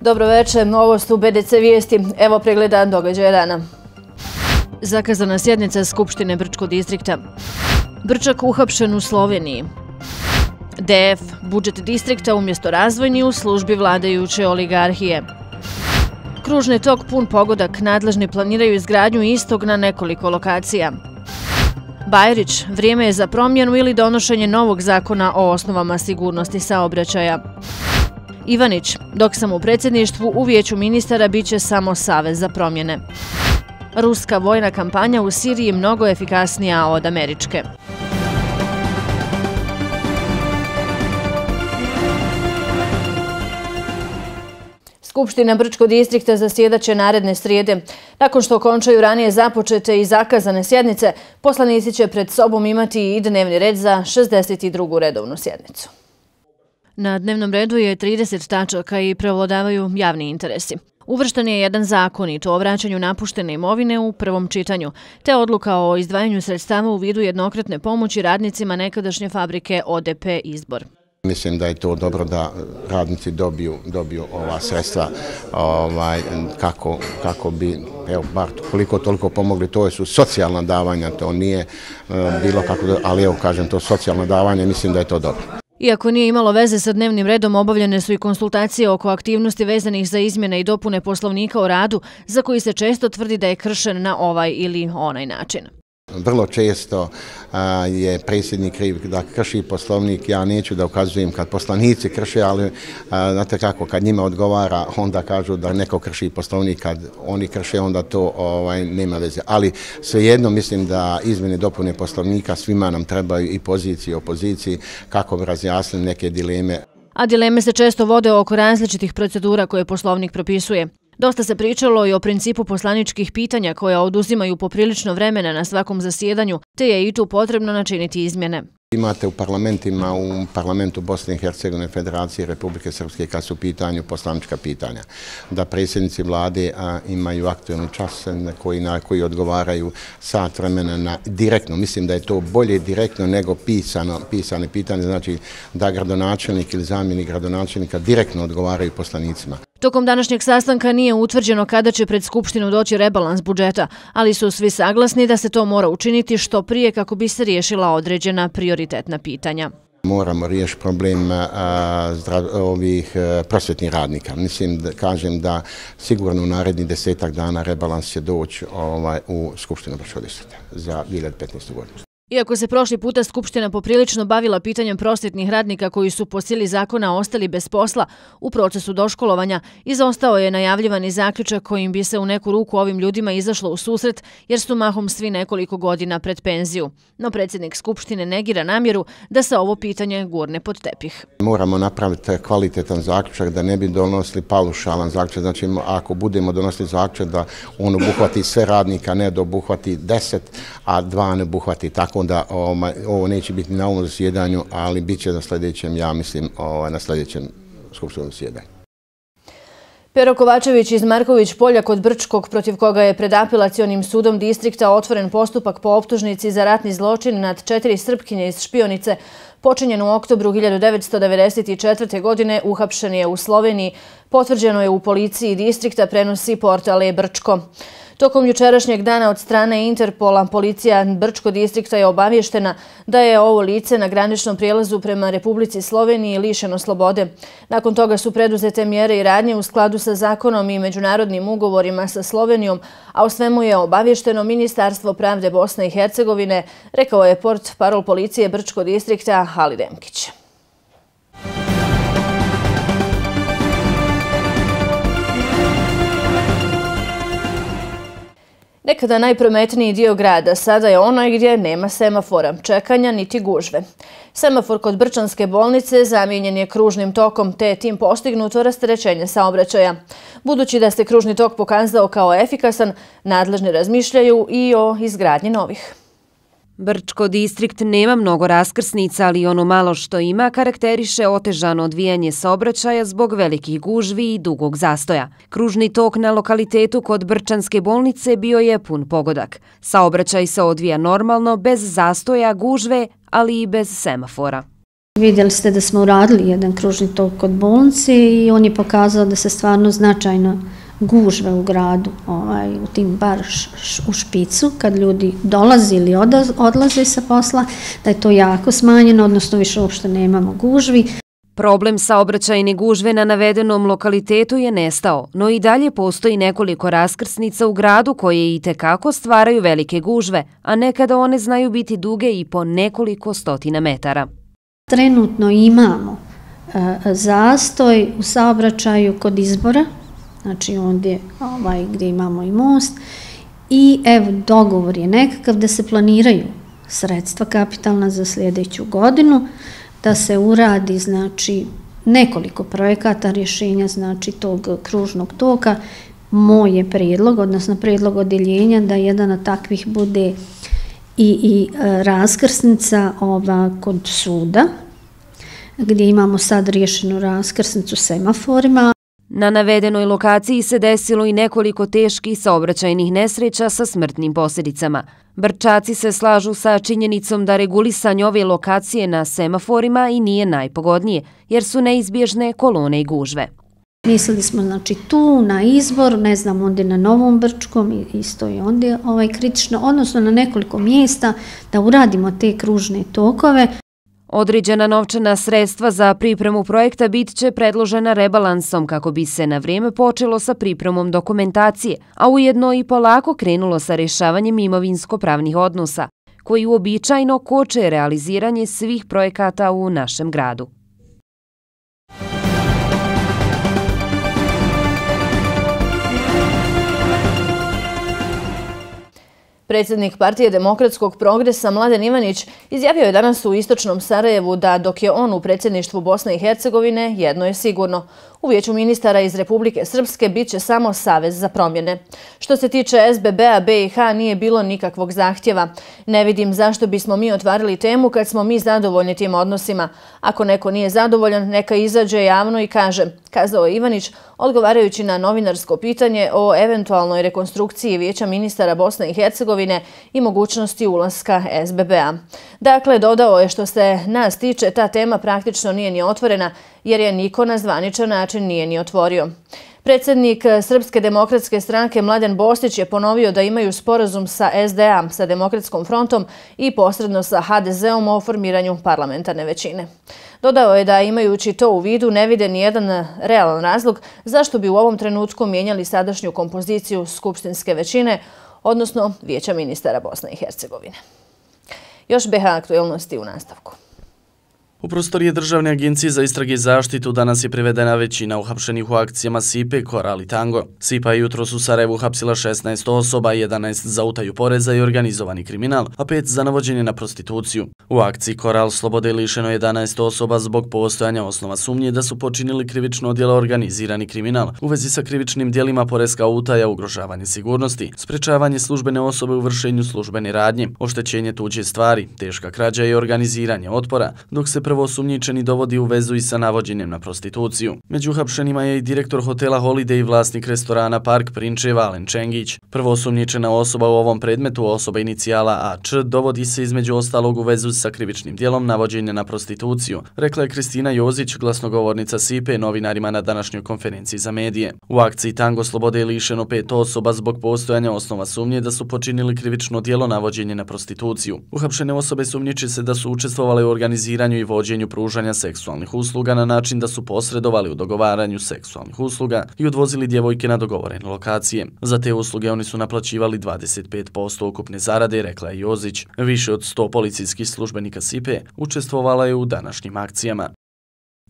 dobro večer. Ovo su BDC vijesti. Evo pregleda događaja dana. Zakazana sjednica Skupštine Brčkog distrikta. Brčak uhapšen u Sloveniji. DF, budžet distrikta umjesto razvojni u službi vladajuće oligarhije. Kružni tok pun pogodak, nadležni planiraju izgradnju istog na nekoliko lokacija. Bajrić, vrijeme je za promjenu ili donošenje novog zakona o osnovama sigurnosti saobraćaja. Ivanić, dok sam u predsjedništvu u vijeću ministara biće samo savez za promjene. Ruska vojna kampanja u Siriji mnogo efikasnija od američke. Skupština Brčkog distrikta zasjedaće naredne srijede. Nakon što okončaju ranije započete i zakazane sjednice, poslanici će pred sobom imati i dnevni red za 62. redovnu sjednicu. Na dnevnom redu je 30 tačaka i prevladavaju javni interesi. Uvršten je jedan zakon i to o vraćanju napuštene imovine u prvom čitanju, te odluka o izdvajanju sredstava u vidu jednokratne pomoći radnicima nekadašnje fabrike ODP Izbor. Mislim da je to dobro da radnici dobiju ova sredstva kako bi, evo, bar koliko toliko pomogli. To su socijalna davanja, to nije bilo kako, ali evo kažem, to socijalno davanje, mislim da je to dobro. Iako nije imalo veze sa dnevnim redom, obavljene su i konsultacije oko aktivnosti vezanih za izmjene i dopune Poslovnika o radu, za koji se često tvrdi da je kršen na ovaj ili onaj način. Vrlo često je predsjednik kriv da krši Poslovnik. Ja neću da ukazujem kad poslanici krše, ali znate kako, kad njima odgovara, onda kažu da neko krši Poslovnik, kad oni krše, onda to nema veze. Ali svejedno mislim da izmjene dopune Poslovnika svima nam trebaju, i poziciji i opoziciji, kako bi razjasnili neke dileme. A dileme se često vode oko različitih procedura koje Poslovnik propisuje. Dosta se pričalo i o principu poslaničkih pitanja koja oduzimaju poprilično vremena na svakom zasjedanju, te je i tu potrebno načiniti izmjene. Imate u parlamentima, u parlamentu Bosne i Hercegovine, Federacije Republike Srpske, kad su u pitanju poslanička pitanja, da predsjednici vlade imaju aktualni čas na koji odgovaraju sat vremena na direktno. Mislim da je to bolje direktno nego pisane pitanje, znači da gradonačelnik ili zamjenik gradonačelnika direktno odgovaraju poslanicima. Tokom današnjeg sastanka nije utvrđeno kada će pred Skupštinu doći rebalans budžeta, ali su svi saglasni da se to mora učiniti što prije kako bi se riješila određena prioritetna pitanja. Moramo riješiti problem ovih prosvjetnih radnika. Mislim, kažem da sigurno u narednih 10 dana rebalans će doći u Skupštinu Brčkog distrikta za 2015. godinu. Iako se prošli puta Skupština poprilično bavila pitanjem prosvjetnih radnika koji su po sili zakona ostali bez posla u procesu doškolovanja, izostao je najavljivani zaključak kojim bi se u neku ruku ovim ljudima izašlo u susret jer su mahom svi nekoliko godina pred penziju. No predsjednik Skupštine negira namjeru da se ovo pitanje gurne pod tepih. Moramo napraviti kvalitetan zaključak, da ne bi donosili paušalan zaključak. Znači, ako budemo donosili zaključak da on obuhvati sve radnika, ne da obuhvati 10, a 2 ne obuhvati tako, onda ovo neće biti na ovom zasjedanju, ali bit će na sljedećem, ja mislim, na sljedećem skupštinskom zasjedanju. Pero Kovačević iz Marković polja kod Brčkog, protiv koga je pred apelacionim sudom distrikta otvoren postupak po optužnici za ratni zločin nad 4 Srpkinje iz Špionice, počinjen u oktobru 1994. godine, uhapšen je u Sloveniji, potvrđeno je u policiji distrikta, prenosi portal e-Brčko. Tokom jučerašnjeg dana od strane Interpola, policija Brčkog distrikta je obavještena da je ovo lice na graničnom prijelazu prema Republici Sloveniji lišeno slobode. Nakon toga su preduzete mjere i radnje u skladu sa zakonom i međunarodnim ugovorima sa Slovenijom, a o svemu je obavješteno Ministarstvo pravde Bosne i Hercegovine, rekao je portparol policije Brčkog distrikta Halid Demkić. Nekada najprometniji dio grada sada je onaj gdje nema semafora, čekanja niti gužve. Semafor kod Brčanske bolnice zamijenjen je kružnim tokom, te je tim postignuto rasterećenje saobraćaja. Budući da se kružni tok pokazao kao efikasan, nadležni razmišljaju i o izgradnji novih. Brčko distrikt nema mnogo raskrsnica, ali ono malo što ima karakteriše otežano odvijanje saobraćaja zbog velikih gužvi i dugog zastoja. Kružni tok na lokalitetu kod Brčanske bolnice bio je pun pogodak. Saobraćaj se odvija normalno, bez zastoja, gužve, ali i bez semafora. Vidjeli ste da smo uradili jedan kružni tok kod bolnice i on je pokazao da se stvarno značajno gužve u gradu, u tim bar u špicu, kad ljudi dolaze ili odlaze sa posla, da je to jako smanjeno, odnosno više uopšte nemamo gužvi. Problem saobraćajne gužve na navedenom lokalitetu je nestao, no i dalje postoji nekoliko raskrsnica u gradu koje itekako stvaraju velike gužve, a nekada one znaju biti duge i po nekoliko stotina metara. Trenutno imamo zastoj u saobraćaju kod Izbora, znači ondje gdje imamo i most, i evo dogovor je nekakav da se planiraju sredstva kapitalna za sljedeću godinu, da se uradi znači nekoliko projekata rješenja znači tog kružnog toka. Moj je prijedlog, odnosno prijedlog odjeljenja da jedan od takvih bude i raskrsnica kod suda, gdje imamo sad riješenu raskrsnicu semaforima. Na navedenoj lokaciji se desilo i nekoliko teških saobraćajnih nesreća sa smrtnim posljedicama. Brčaci se slažu sa činjenicom da regulisanje ove lokacije na semaforima i nije najpogodnije, jer su neizbježne kolone i gužve. Mislili smo znači tu na Izbor, ne znam, ondje na Novom Brčkom, isto je ondje kritično, odnosno na nekoliko mjesta da uradimo te kružne tokove. Određena novčana sredstva za pripremu projekta bit će predložena rebalansom kako bi se na vrijeme počelo sa pripremom dokumentacije, a ujedno i polako krenulo sa rješavanjem imovinsko-pravnih odnosa, koji uobičajno koče realiziranje svih projekata u našem gradu. Predsjednik Partije demokratskog progresa Mladen Ivanić izjavio je danas u istočnom Sarajevu da dok je on u predsjedništvu Bosne i Hercegovine, jedno je sigurno. U vijeću ministara iz Republike Srpske bit će samo savez za promjene. Što se tiče SBB-a, BiH nije bilo nikakvog zahtjeva. Ne vidim zašto bismo mi otvarili temu kad smo mi zadovoljni tim odnosima. Ako neko nije zadovoljan, neka izađe javno i kaže, kazao je Ivanić, odgovarajući na novinarsko pitanje o eventualnoj rekonstrukciji vijeća ministara Bosne i Hercegovine i mogućnosti ulaska SBB-a. Dakle, dodao je što se nas tiče, ta tema praktično nije ni otvorena, jer je niko na zvaničan način nije ni otvorio. Predsjednik Srpske demokratske stranke Mladen Bostić je ponovio da imaju sporazum sa SDA, sa Demokratskom frontom i posredno sa HDZ-om o formiranju parlamentarne većine. Dodao je da imajući to u vidu ne vide ni jedan realan razlog zašto bi u ovom trenutku mijenjali sadašnju kompoziciju skupštinske većine, odnosno vijeća ministara Bosne i Hercegovine. Još BiH aktualnosti u nastavku. U prostorije Državne agencije za istrage i zaštitu danas je privedena većina uhapšenih u akcijama SIPA, Koral i Tango. SIPA je jutros u Sarajevu uhapsila 16 osoba, 11 za utaju poreza i organizovani kriminal, a 5 za navođenje na prostituciju. U akciji Koral slobode je lišeno 11 osoba zbog postojanja osnova sumnje da su počinili krivično djelo organizirani kriminal u vezi sa krivičnim djelima poreska utaja, ugrožavanje sigurnosti, sprečavanje službene osobe u vršenju službene radnje, oštećenje tuđe stvari, teška krađa i organiziranje otpora, dok se prvosumnjičeni dovodi u vezu i sa navođenjem na prostituciju. Među uhapšenima je i direktor hotela Holiday i vlasnik restorana Park Prinčeva Alen Čengić. Prvosumnjičena osoba u ovom predmetu, osoba inicijala AC, dovodi se između ostalog u vezu sa krivičnim djelom navođenja na prostituciju, rekla je Kristina Jozić, glasnogovornica SIPA, novinarima na današnjoj konferenciji za medije. U akciji Tango slobode je lišeno 5 osoba zbog postojanja osnova sumnje da su počinili krivično djelo navođenje na prostituciju. Uhapšene osobe sumnjiče se da su učestvovale u organiziranju i vođenju pružanja seksualnih usluga na način da su posredovali u dogovaranju seksualnih usluga i odvozili djevojke na dogovorene lokacije. Za te usluge oni su naplaćivali 25% ukupne zarade, rekla je Jozić. Više od 100 policijskih službenika SIPA učestvovala je u današnjim akcijama.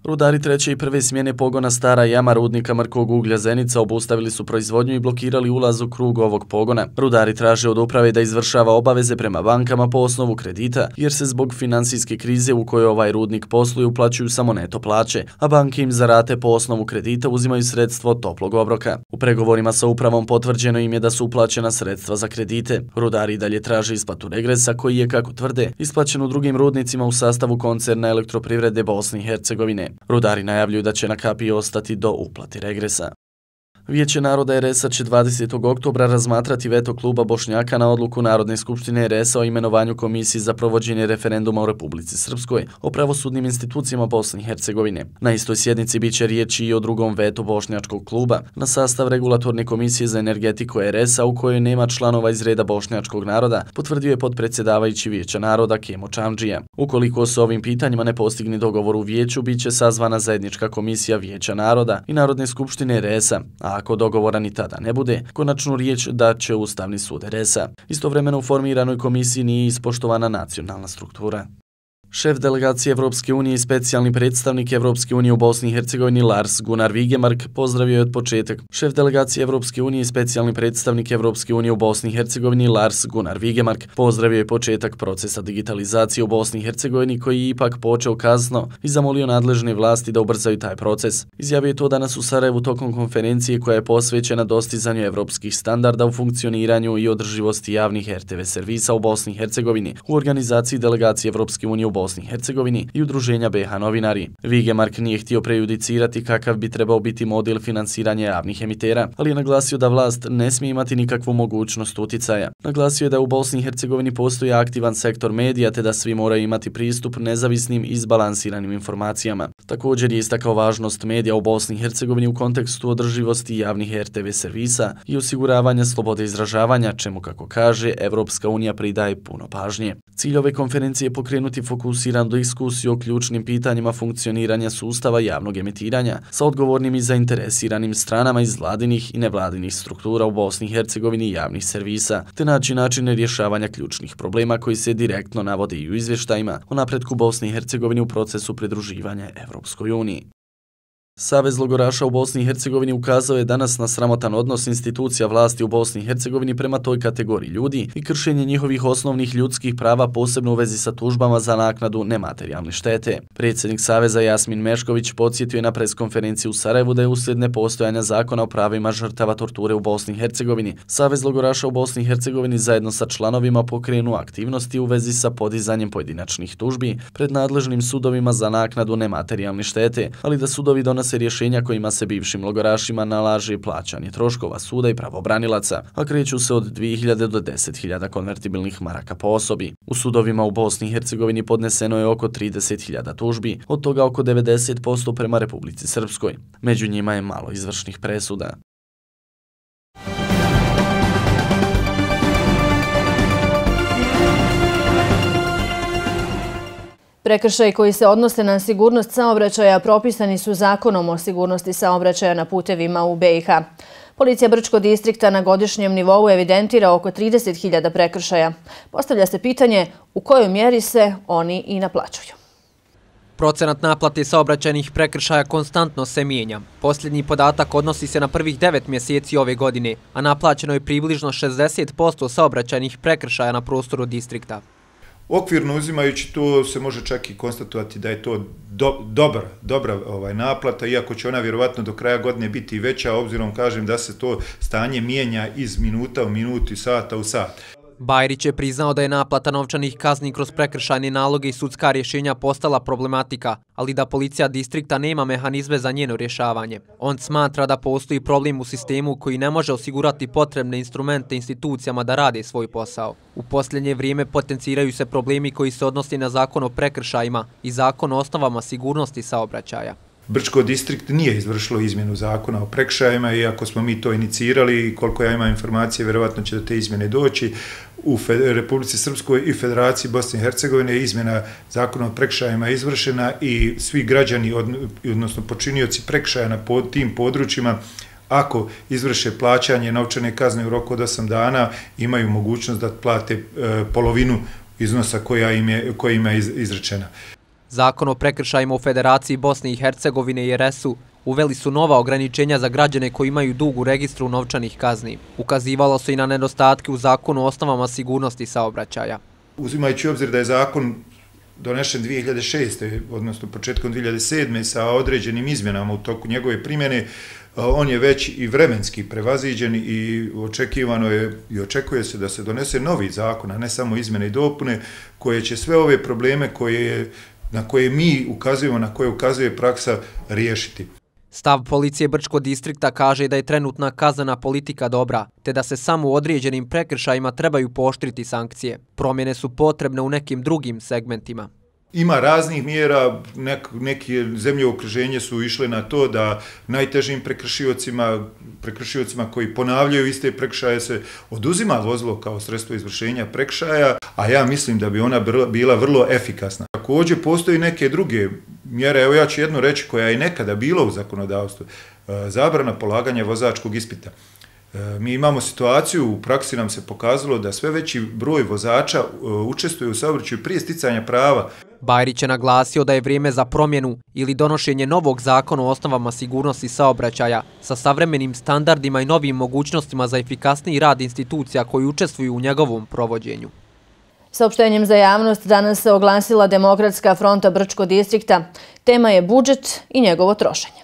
Rudari treće i prve smjene pogona Stara jama rudnika mrkog uglja Zenica obustavili su proizvodnju i blokirali ulaz u krug ovog pogona. Rudari traže od uprave da izvršava obaveze prema bankama po osnovu kredita, jer se zbog finansijske krize u kojoj ovaj rudnik posluje uplaćuju samo neto plaće, a banke im za rate po osnovu kredita uzimaju sredstvo toplog obroka. U pregovorima sa upravom potvrđeno im je da su uplaćena sredstva za kredite. Rudari dalje traže isplatu regresa koji je, kako tvrde, isplaćen u drugim rudnicima u sastavu koncerna Elektroprivrede Bosne i Hercegovine. Rudari najavljuju da će na kapiji ostati do uplati regresa. Vijeće naroda RS-a će 20. oktobra razmatrati veto kluba Bošnjaka na odluku Narodne skupštine RS-a o imenovanju komisije za provođenje referenduma u Republici Srpskoj o pravosudnim institucijama Bosne i Hercegovine. Na istoj sjednici biće riječi i o drugom vetu bošnjačkog kluba na sastav regulatorne komisije za energetiku RS-a u kojoj nema članova iz reda bošnjačkog naroda, potvrdio je potpredsjedavajući Vijeća naroda Kemo Čamdžija. Ukoliko se ovim pitanjima ne postigne dogovor u vijeću, biće sazvana zajednička komisija Vijeća naroda i Narodne skupštine RS-a, a ako dogovora ni tada ne bude, konačnu riječ dat će Ustavni sud RS-a. Istovremeno u formiranoj komisiji nije ispoštovana nacionalna struktura. Šef delegacije Evropske unije i specijalni predstavnik Evropske unije u Bosni i Hercegovini Lars Gunnar Vigemark pozdravio je od početak. Šef delegacije Evropske unije i specijalni predstavnik Evropske unije u Bosni i Hercegovini Lars Gunnar Vigemark pozdravio je početak procesa digitalizacije u Bosni i Hercegovini koji je ipak počeo kasno i zamolio nadležne vlasti da ubrzaju taj proces. Izjavio je to danas u Sarajevu tokom konferencije koja je posvećena dostizanju evropskih standarda u funkcioniranju i održivosti javnih RTV servisa u Bosni i Hercegovini u organizaciji delegacije Evropske unije u Bosni i Hercegovini i udruženja BiH novinari. Vigemark nije htio prejudicirati kakav bi trebao biti model finansiranja javnih emitera, ali je naglasio da vlast ne smije imati nikakvu mogućnost uticaja. Naglasio je da u Bosni i Hercegovini postoji aktivan sektor medija te da svi moraju imati pristup nezavisnim i izbalansiranim informacijama. Također je istakao važnost medija u Bosni i Hercegovini u kontekstu održivosti javnih RTV servisa i osiguravanja slobode izražavanja, čemu, kako kaže, Evropska unija pridaje puno pažnje. Cilj ove konferencije je pokrenuti fokusiran diskusiju o ključnim pitanjima funkcioniranja sustava javnog emitiranja sa odgovornim i zainteresiranim stranama iz vladinih i nevladinih struktura u Bosni i Hercegovini i javnih servisa, te naći načine rješavanja ključnih problema koji se direktno navode i u izvještajima o napretku Bosne i Hercegovine u procesu pridruživanja Evropskoj uniji. Savez logoraša u Bosni i Hercegovini ukazao je danas na sramotan odnos institucija vlasti u Bosni i Hercegovini prema toj kategoriji ljudi i kršenje njihovih osnovnih ljudskih prava, posebno u vezi sa tužbama za naknadu nematerijalne štete. Predsjednik Saveza Jasmin Mešković podsjetio je na preskonferenciji u Sarajevu da je uslijed nepostojanja zakona o pravima žrtava torture u Bosni i Hercegovini, Savez logoraša u Bosni i Hercegovini zajedno sa članovima pokrenuo aktivnosti u vezi sa podizanjem pojedinačnih tužbi pred nadležnim sudovima za naknadu nematerijalne štete, ali da sudovi donose rješenja kojima se bivšim logorašima nalaže plaćanje troškova suda i pravobranilaca, a kreću se od 2000 do 10.000 konvertibilnih maraka po osobi. U sudovima u Bosni i Hercegovini podneseno je oko 30.000 tužbi, od toga oko 90% prema Republici Srpskoj. Među njima je malo izvršnih presuda. Prekršaji koji se odnose na sigurnost saobraćaja propisani su Zakonom o sigurnosti saobraćaja na putevima u BiH. Policija Brčkog distrikta na godišnjem nivou evidentira oko 30.000 prekršaja. Postavlja se pitanje u kojoj mjeri se oni i naplaćuju. Procenat naplate saobraćajnih prekršaja konstantno se mijenja. Posljednji podatak odnosi se na prvih 9 mjeseci ove godine, a naplaćeno je približno 60% saobraćajnih prekršaja na prostoru distrikta. Okvirno uzimajući to se može čak i konstatovati da je to dobra naplata, iako će ona vjerovatno do kraja godine biti veća, obzirom kažem da se to stanje mijenja iz minuta u minutu i sata u sat. Bajrić je priznao da je naplata novčanih kazni kroz prekršajne naloge i sudska rješenja postala problematika, ali da policija distrikta nema mehanizme za njeno rješavanje. On smatra da postoji problem u sistemu koji ne može osigurati potrebne instrumente institucijama da rade svoj posao. U posljednje vrijeme potenciraju se problemi koji se odnose na zakon o prekršajima i zakon o osnovama sigurnosti saobraćaja. Brčko distrikt nije izvršilo izmjenu zakona o prekršajima, iako smo mi to inicirali i koliko ja imam informacije, vjerovatno će do te izmjene doći. U Republici Srpskoj i Federaciji Bosne i Hercegovine je izmjena zakona o prekršajima izvršena i svi građani, odnosno počinioci prekršaja na tim područjima, ako izvrše plaćanje novčane kazne u roku od 8 dana, imaju mogućnost da plate polovinu iznosa koja im je izrečena. Zakon o prekršajima u Federaciji Bosne i Hercegovine i RS-u uveli su nova ograničenja za građane koji imaju dug u registru novčanih kazni. Ukazivalo se i na nedostatke u zakonu o osnovama sigurnosti saobraćaja. Uzimajući obzir da je zakon donešen 2006. odnosno početkom 2007. sa određenim izmjenama u toku njegove primjene, on je već i vremenski prevaziđen i očekivano je i očekuje se da se donese novi zakon, a ne samo izmjene i dopune, koje će sve ove probleme na koje mi ukazujemo, na koje ukazuje praksa, riješiti. Stav policije Brčkog distrikta kaže da je trenutna kaznena politika dobra, te da se samo u određenim prekršajima trebaju pooštriti sankcije. Promjene su potrebne u nekim drugim segmentima. Ima raznih mjera, neke zemlje u okruženju su išle na to da najtežim prekršiocima koji ponavljaju iste prekršaje se oduzima vozilo kao sredstvo izvršenja prekršaja, a ja mislim da bi ona bila vrlo efikasna. Također postoji neke druge mjere, evo ja ću jednu reći koja je nekada bila u zakonodavstvu, zabrana polaganja vozačkog ispita. Mi imamo situaciju, u praksi nam se pokazalo da sve veći broj vozača učestvuje u saobraćaju prije sticanja prava. Bajrić je naglasio da je vrijeme za promjenu ili donošenje novog zakona o osnovama sigurnosti saobraćaja sa savremenim standardima i novim mogućnostima za efikasniji rad institucija koji učestvuju u njegovom provođenju. Saopštenjem za javnost danas se oglasila Demokratska fronta Brčkog distrikta. Tema je budžet i njegovo trošenje.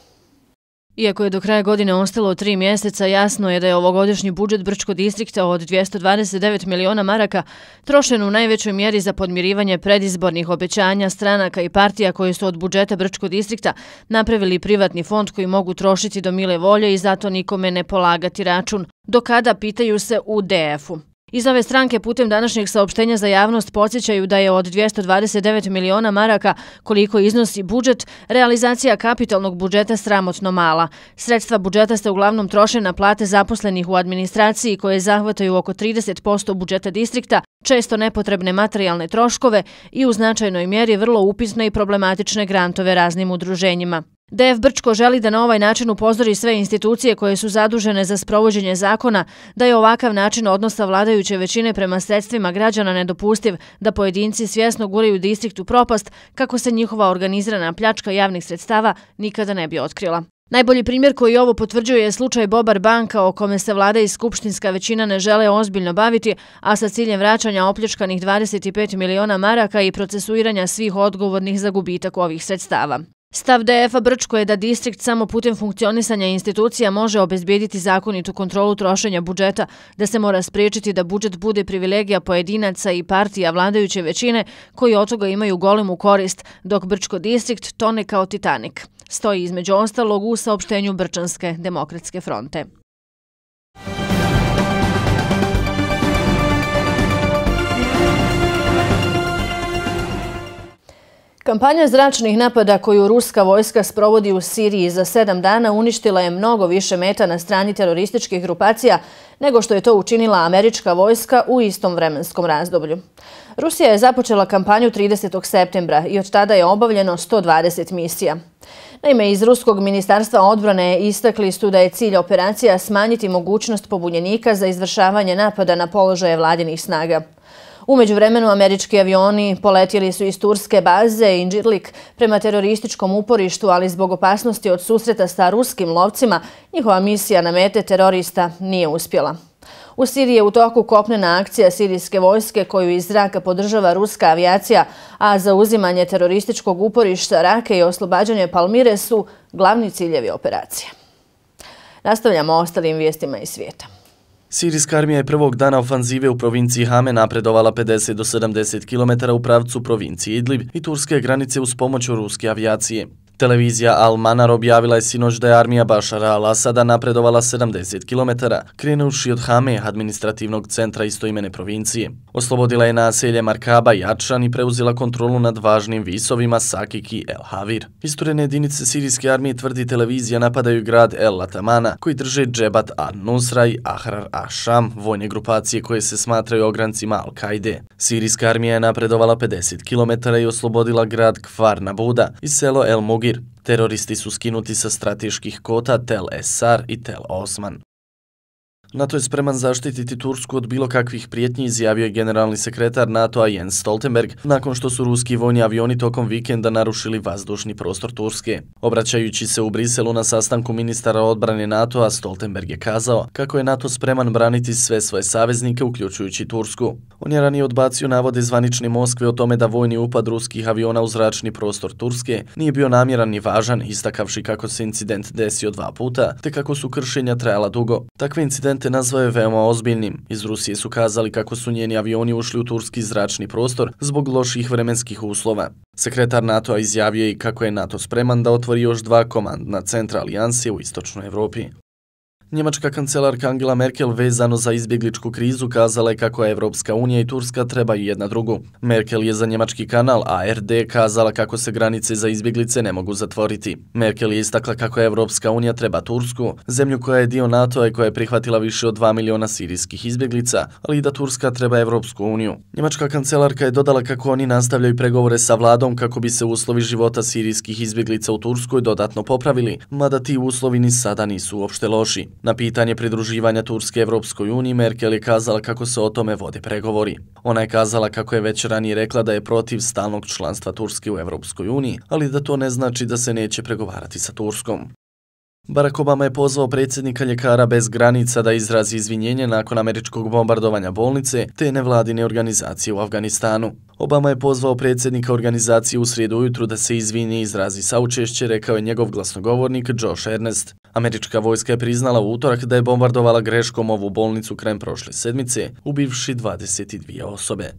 Iako je do kraja godine ostalo 3 mjeseca, jasno je da je ovogodišnji budžet Brčkog distrikta od 229 miliona maraka trošen u najvećoj mjeri za podmirivanje predizbornih obećanja stranaka i partija koje su od budžeta Brčkog distrikta napravili privatni fond koji mogu trošiti do mile volje i zato nikome ne polagati račun. Do kada, pitaju se u DF-u. Iz ove stranke putem današnjeg saopštenja za javnost podsjećaju da je od 229 miliona maraka, koliko iznosi budžet, realizacija kapitalnog budžeta sramotno mala. Sredstva budžeta se uglavnom troše na plate zaposlenih u administraciji koje zahvataju oko 30% budžeta distrikta, često nepotrebne materijalne troškove i u značajnoj mjeri vrlo upitne i problematične grantove raznim udruženjima. DF Brčko želi da na ovaj način upozori sve institucije koje su zadužene za sprovođenje zakona da je ovakav način odnosa vladajuće većine prema sredstvima građana nedopustiv, da pojedinci svjesno guraju distrikt u propast kako se njihova organizirana pljačka javnih sredstava nikada ne bi otkrila. Najbolji primjer koji ovo potvrđuje je slučaj Bobar banka o kome se vlada i skupštinska većina ne žele ozbiljno baviti, a sa ciljem vraćanja opljačkanih 25 miliona maraka i procesuiranja svih odgovornih za gubitak ovih sredstava. Stav DF-a Brčko je da distrikt samo putem funkcionisanja institucija može obezbijediti zakonitu kontrolu trošenja budžeta, da se mora spriječiti da budžet bude privilegija pojedinaca i partija vladajuće većine koji od toga imaju golemu korist, dok Brčko distrikt tone kao Titanik. Stoji između ostalog u saopštenju Brčanske demokratske fronte. Kampanja zračnih napada koju ruska vojska sprovodi u Siriji za 7 dana uništila je mnogo više meta na strani terorističkih grupacija nego što je to učinila američka vojska u istom vremenskom razdoblju. Rusija je započela kampanju 30. septembra i od tada je obavljeno 120 misija. Naime, iz Ruskog ministarstva odbrane istakli su da je cilj operacija smanjiti mogućnost pobunjenika za izvršavanje napada na položaje vladinih snaga. U međuvremenu američki avioni poletjeli su iz turske baze Incirlik prema terorističkom uporištu, ali zbog opasnosti od susreta sa ruskim lovcima, njihova misija na mete terorista nije uspjela. U Siriji je u toku kopnena akcija sirijske vojske koju iz zraka podržava ruska avijacija, a za uzimanje terorističkog uporišta Rake i oslobađanje Palmire su glavni ciljevi operacije. Nastavljamo ostalim vijestima iz svijeta. Sirijska armija je prvog dana ofanzive u provinciji Hame napredovala 50 do 70 km u pravcu provincije Idlib i turske granice uz pomoć ruske avijacije. Televizija Al-Manar objavila je sinoć da je armija Bašara al-Asada napredovala 70 km, krenuši od Hame, administrativnog centra istoimene provincije. Oslobodila je naselje Markaba i Ačan i preuzela kontrolu nad važnim visovima Sakik i El Havir. Isturene jedinice sirijske armije, tvrdi televizija, napadaju grad El Latamana, koji drže Džebat an-Nusra i Ahrar Ašam, vojne grupacije koje se smatraju ograncima Al-Kaide. Sirijska armija je napredovala 50 km i oslobodila grad Kfar Nabuda i selo El Mugir. Teroristi su skinuti sa strateških kota Tel Esar i Tel Osman. NATO je spreman zaštititi Tursku od bilo kakvih prijetnji, izjavio je generalni sekretar NATO-a Jens Stoltenberg, nakon što su ruski vojni avioni tokom vikenda narušili vazdušni prostor Turske. Obraćajući se u Briselu na sastanku ministara odbrane NATO-a, Stoltenberg je kazao kako je NATO spreman braniti sve svoje saveznike, uključujući Tursku. On je ranije odbacio navode zvanične Moskve o tome da vojni upad ruskih aviona u zračni prostor Turske nije bio namjeran ni važan, istakavši kako se incident desio 2 puta, te kako su kršenja trajala dugo. Takve incidente te nazvao je veoma ozbiljnim. Iz Rusije su kazali kako su njeni avioni ušli u turski zračni prostor zbog loših vremenskih uslova. Sekretar NATO-a izjavio i kako je NATO spreman da otvori još 2 komandna centra alijanse u istočnoj Evropi. Njemačka kancelarka Angela Merkel vezano za izbjegličku krizu kazala je kako Evropska unija i Turska trebaju jedna drugu. Merkel je za njemački kanal ARD kazala kako se granice za izbjeglice ne mogu zatvoriti. Merkel je istakla kako Evropska unija treba Tursku, zemlju koja je dio NATO-a i koja je prihvatila više od 2 miliona sirijskih izbjeglica, ali i da Turska treba Evropsku uniju. Njemačka kancelarka je dodala kako oni nastavljaju pregovore sa vladom kako bi se uslovi života sirijskih izbjeglica u Turskoj dodatno popravili, mada ti uslovi ni sada nisu uopšte loši. Na pitanje pridruživanja Turske Evropskoj uniji, Merkel je kazala kako se o tome vode pregovori. Ona je kazala kako je već ranije rekla da je protiv stalnog članstva Turske u Evropskoj uniji, ali da to ne znači da se neće pregovarati sa Turskom. Barack Obama je pozvao predsjednika Ljekara bez granica da izrazi izvinjenje nakon američkog bombardovanja bolnice te nevladine organizacije u Afganistanu. Obama je pozvao predsjednika organizacije u srijedu ujutru da se izvini i izrazi saučešće, rekao je njegov glasnogovornik Josh Ernest. Američka vojska je priznala u utorak da je bombardovala greškom ovu bolnicu krajem prošle sedmice, ubivši 22 osobe.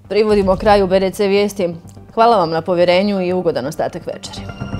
Privodimo kraju BDC vijesti. Hvala vam na povjerenju i ugodan ostatak večeri.